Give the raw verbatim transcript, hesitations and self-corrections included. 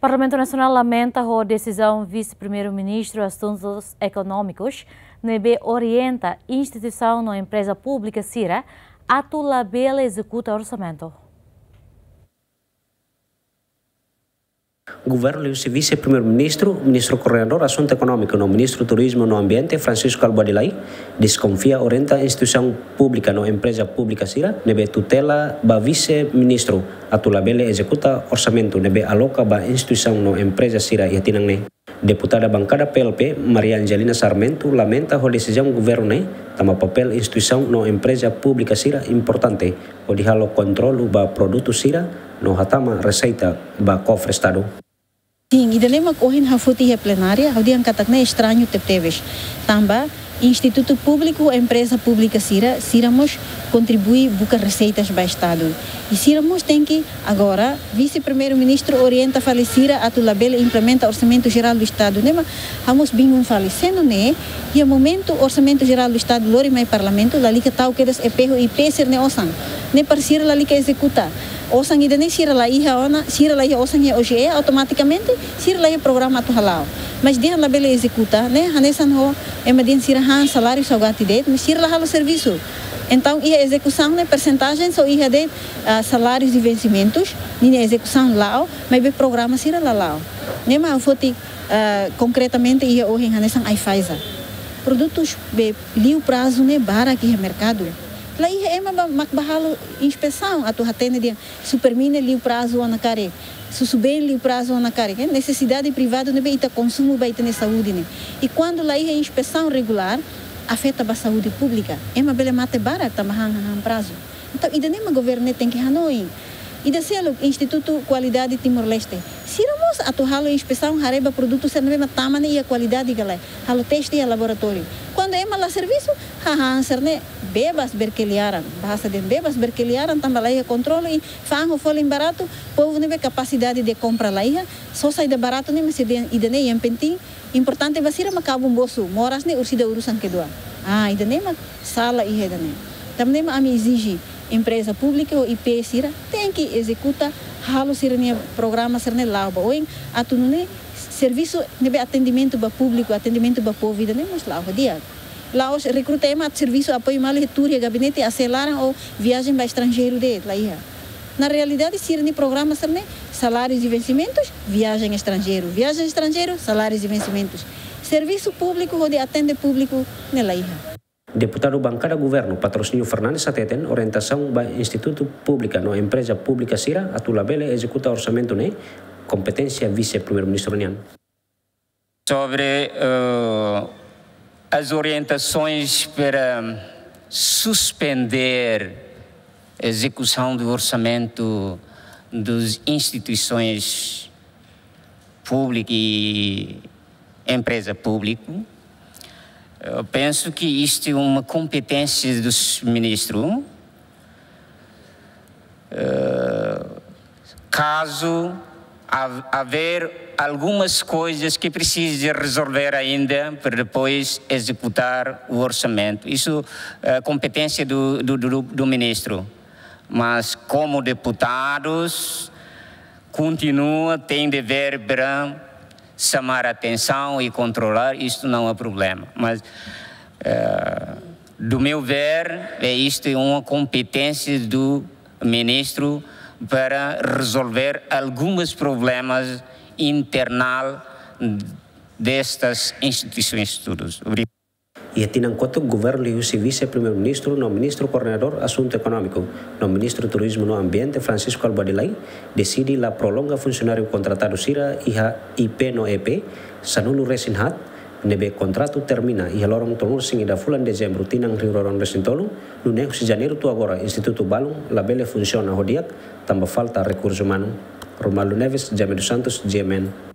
Parlamentu Nasionál lamenta ho desizaun Vise-Primeiru-Ministru Asuntus Ekonómikus ne'ebé orienta instituisaun no empreza públika sira atu labele ezekuta orsamentu. Governu liuhusi Vise-Primeiru-Ministru, Ministru Koordenadór Asuntu Ekonómiku no Ministru Turizmu no Ambiente, Francisco Albuadelay, deskonfia orienta instituisaun públika no empreza públika sira ne'ebé tutela ba Vise-Ministru atu labele ezekuta orsamentu ne'ebé aloka ba instituisaun no empreza sira iha tinan ne'e. Deputada Bankada P L P, Maria Angelina Sarmento, lamenta ho desizaun governu ne'e, tanba papél instituisaun no empreza públika sira importante hodi halo kontrolu ba produtu sira no hatama reseita ba kofre Estadu. Sin, ida-ne'e mak ohin ha'u foti iha plenária, ha'u dehan katak ne'e estrañu tebetebes. Tanba institutu públiku, empreza públika sira, sira mós kontribui buka reseitas ba Estadu. I sira mós tenke agora, Vise-Primeiru-Ministru orienta fali sira atu labele implementa Orsamentu Jerál do Estadu. Ne'e mak ha'u mós bingung fali. Se nune'e, iha momentu Orsamentu Jerál do Estadu lori mai Parlamentu, lalika tau kedas E P ho I P sira-nia osan. Ne'e para sira lalika ezekuta. Osan ida-ne'e sira la iha ona, sira la iha osan iha O G E, automatikamente sira la iha programa atu hala'o. Mas dehan labele ezekuta, ne'e hanesan ho ema dehan sira han saláriu saugati de'it, mas sira la halo servisu. Entaun, iha ezekusaun ne'e persentajen só iha de'it, ah, salárius i vensimentus, ninia ezekusaun la'o, maibé programa sira la la'o. Ne'e mak ha'u foti, ah, konkretamente iha ohin hanesan Aifasa. Produtus be liu prazu ne'e barak iha merkadu. La iha ema ba, mak ba halo inspesaun atu hatene dehan Supermi ne'e liu prazu ona karik, Susubeen liu prazu ona karik, eh, nesesidade privadu ne'ebé ita konsumu ba ita-nia saúde ne'e. I kuandu la iha inspesaun regulár, afeta ba saúde públika. Ema bele mate barak tanba han, han, han prazu. Entaun, ida-ne'e mak governu ne'e tenke hanoin. Ida seluk, Institutu Kualidade Timor-Leste. Sira mós atu halo inspesaun haree ba produtu sira ne'ebé mak tama ne'e iha kualidade ka lae. Halo teste iha laboratóriu. Kuandu ema la servisu, hahán sira-ne'e bebas berkeliaran. Bahasa dehan bebas berkeliaran, tanba la iha kontrolu i fa'an ho folin baratu, povu ne'ebé kapasidade de kompra la iha, sosa ida baratu ne'e mak sira dehan ida-ne'e yang penting, importante ba sira mak kabun bosu, moras ne'e orsida urusan kedua. Ah, ida-ne'e mak sala iha ida-ne'e. Tanba ne'e mak ami ezije empreza públika ho I P sira tenke ezekuta, halo sira-nia programa sira-ne'e la'o ba oin, atu nune'e servisu ne'ebé atendimentu ba públiku, atendimentu ba povu ida-ne'e mós la'o ho di'ak. La'ós rekruta ema atu servisu apoiu malu iha tuur iha gabinete, A C laran ou viajen ba estranjeiru de'it, la iha. Na realidade, sira-nia programa sira-ne'e salárius i vensimentus, viajen estranjeiru, viajen estranjeiru, salárius i vensimentus. Servisu públiku hodi atende públiku ne'e la iha. Deputadu Bankada Governu, Patrocínio Fernandes, hateten orientasaun ba institutu públika no empreza públika sira atu labele ezekuta orsamentu ne'e kompeténsia Vise-Primeiru-Ministru nian. Sobre, eh, as orientações para suspender a execução do orçamento das instituições públicas e empresa pública, eu penso que isto é uma competência dos ministros. Eh, caso ha-, haver algumas coisas que precise resolver ainda para depois executar o orçamento. Isso é competência do, do, do, do ministro. Mas, como deputados, continua, tem dever para chamar atenção e controlar, isto não é problema. Mas, eh, do meu ver, é isto é uma competência do ministro para resolver alguns problemas internal destas instituições todas. Obrigado. Iha tinan kotuk, governu liuhusi Vise-Primeiru-Ministru no Ministru Koordenadór Asuntu Ekonómiku no Ministru Turizmu no Ambiente, Francisco Albuadelay, deside la prolonga funsionáriu kontratadu sira iha I P no E P, sanulu resin haat, ne'ebé kontratu termina iha loron tolunulu resin ida fulan Dezembru tinan rihun rua ruanulu resin tolu, nune'e husi Janeiru to'o agora institutu balun labele funsiona ho di'ak tanba falta rekursu umanu. Romualdo Neves, Jaime dos Santos, G M N.